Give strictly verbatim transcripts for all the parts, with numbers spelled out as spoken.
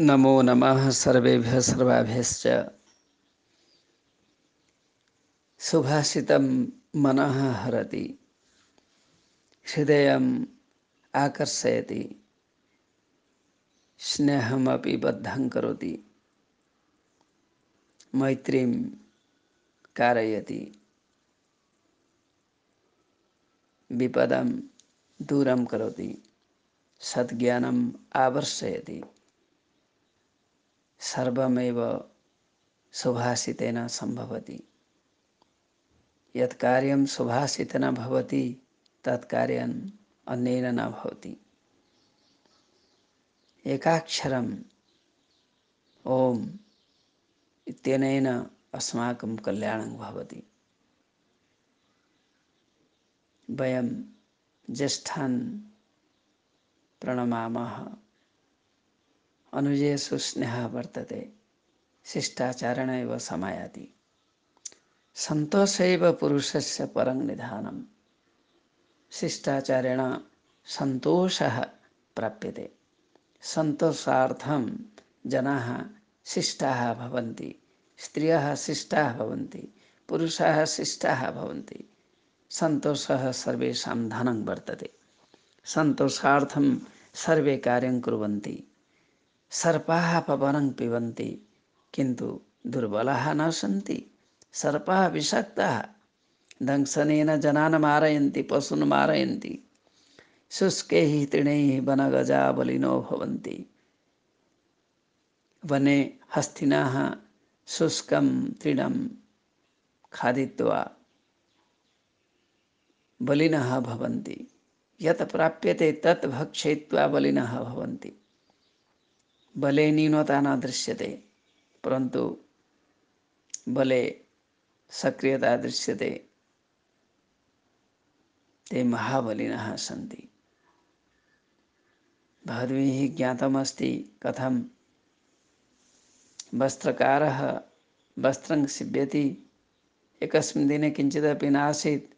नमो नमः सर्वेभ्यः सर्वाभ्यश्च। सुभाषितं मनः हरति, हृदयम् आकर्षयति, स्नेहमपि बद्धं करोति, मैत्रीं कारयति, विपदं दूरं करोति, सद्ज्ञानम् आवर्षयति। सर्वमेव सुभाषितेन सम्भवति। यत् कार्यं सुभाषितेन भवति तत् कार्यम् अन्येन न भवति। एकाक्षरम् ओम इत्यनेन अस्माकं कल्याणं भवति। वयं ज्येष्ठान् प्रणमामः। अनुजेषु स्नेहः वर्तते, शिष्टाचारेण एव समायाति। सन्तोषैव पुरुषस्य परं निधानम्। शिष्टाचारेण सन्तोषः प्राप्यते। सन्तोषार्थं जनाः शिष्टाः भवन्ति, स्त्रियः शिष्टाः भवन्ति, पुरुषाः शिष्टाः भवन्ति। सन्तोषः सर्वेषां धनं वर्तते। सन्तोषार्थं सर्वे कार्यं कुर्वन्ति। सर्पाः पवनं पिबन्ति किन्तु दुर्बलाः न सन्ति। सर्पाः विषाक्ताः, दंशनेन जनान् मारयन्ति, पशून् मारयन्ति। शुष्कैः तृणैः वनगजा बलिनो भवन्ति। वने हस्तिनाः शुष्कं तृणं खादित्वा बलिनः भवन्ति। यत् प्राप्यते तत् भक्षयित्वा बलिनः भवन्ति। बले न्यूनता न दृश्यते, परन्तु बले सक्रियता दृश्यते। ते महाबलिनः सन्ति। भवद्भिः ज्ञातमस्ति कथं वस्त्रकारः वस्त्रं सीव्यति। एकस्मिन् दिने किञ्चिदपि नासीत्।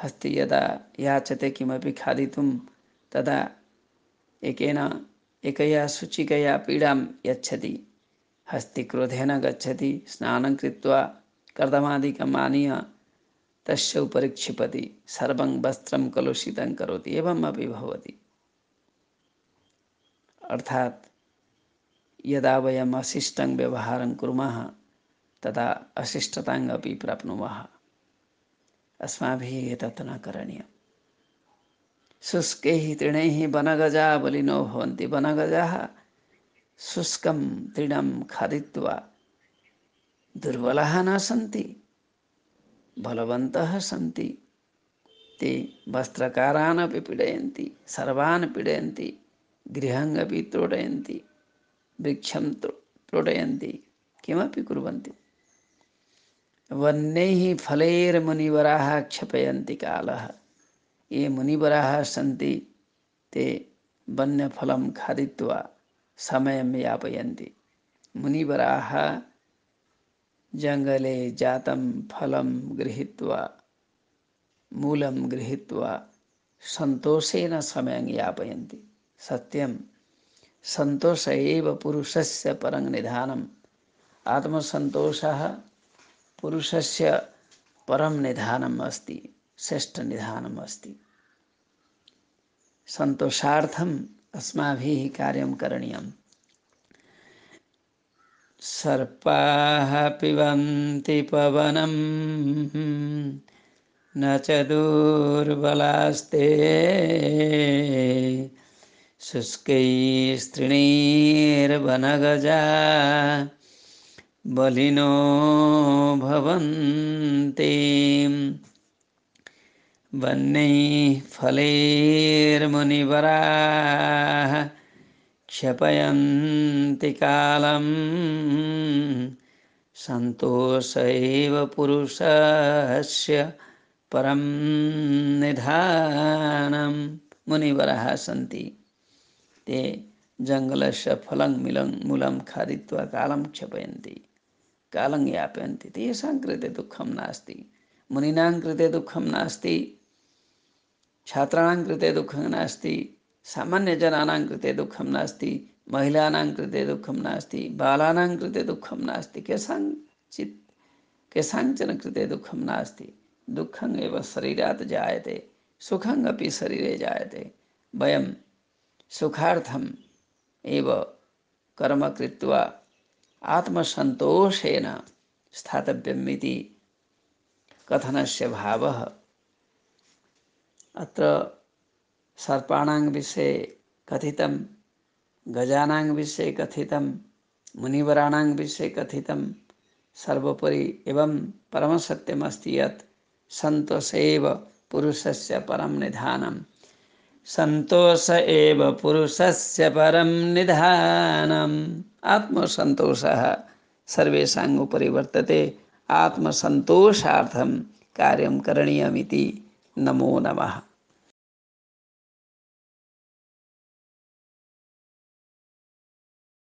हस्ते यदा याचते किमपि खादितुं तदा एकेन एकया सूचिकया पीडां यच्छति। हस्ते क्रोधेन गच्छति, स्नानं कृत्वा कर्दमादिकम् आनीय तस्य उपरि क्षिपति, सर्वं वस्त्रं कलुषितं करोति। एवमपि भवति। अर्थात् यदा वयम् अशिष्टं व्यवहारं कुर्मः तदा अशिष्टताम् अपि प्राप्नुमः। अस्माभिः एतत् न करणीयम्। शुष्कैः तृणैः वनगजा बलिनो भवन्ति। वनगजाः शुष्कं तृणं खादित्वा दुर्बलाः न सन्ति, बलवन्तः सन्ति। ते वस्त्रकारान् अपि पीडयन्ति, सर्वान् पीडयन्ति, गृहम् अपि तोडयन्ति, वृक्षं तोडयन्ति, किमपि कुर्वन्ति। वन्यैः फलैर्मुनिवराः क्षपयन्ति कालः। ये मुनिवराः सन्ति ते वन्यफलं खादित्वा समयं यापयन्ति। मुनिवराः जङ्गले जातं फलं गृहीत्वा, मूलं गृहीत्वा सन्तोषेण समयं यापयन्ति। सत्यं सन्तोष एव पुरुषस्य परं निधानम्। आत्मसन्तोषः पुरुषस्य परं निधानम् अस्ति, श्रेष्ठ निधानम् अस्ति। सन्तोषार्थम् अस्माभिः कार्यं करणीयम्। सर्पाः पिबन्ति पवनं न च दुर्बलास्ते, शुष्कैस्तृणैर्वनगजा बलिनो भवन्ति। वन्यैः फलैर्मुनिवराः क्षपयन्ति कालं, सन्तोष एव पुरुषस्य परं निधानम्। मुनिवराः सन्ति, ते जङ्गलस्य फलं मिलं मूलं खादित्वा कालं क्षपयन्ति, कालं यापयन्ति। तेषां कृते दुःखं नास्ति। मुनीनां कृते दुःखं नास्ति, छात्राणां कृते दुःखं नास्ति, सामान्यजनानां कृते दुःखं नास्ति। महिलानां कृते दुःखं नास्ति, बालानां कृते दुःखं नास्ति, केषाञ्चित् केषाञ्चन कृते दुःखं नास्ति। दुःखम् एव शरीरात् जायते, सुखम् अपि शरीरे जायते। वयं सुखार्थम् एव कर्म कृत्वा आत्मसन्तोषेण स्थातव्यम् इति कथनस्य भावः। अत्र सर्पाणां विषये कथितं, गजानां विषये कथितं, मुनिवराणां विषये कथितं। सर्वोपरि एवं परमसत्यमस्ति यत् सन्तोष एव पुरुषस्य परं निधानम्। सन्तोष एव पुरुषस्य परं निधानम्। आत्मसन्तोषः सर्वेषाम् उपरि वर्तते। आत्मसन्तोषार्थं कार्यं करणीयमिति। नमो नमः।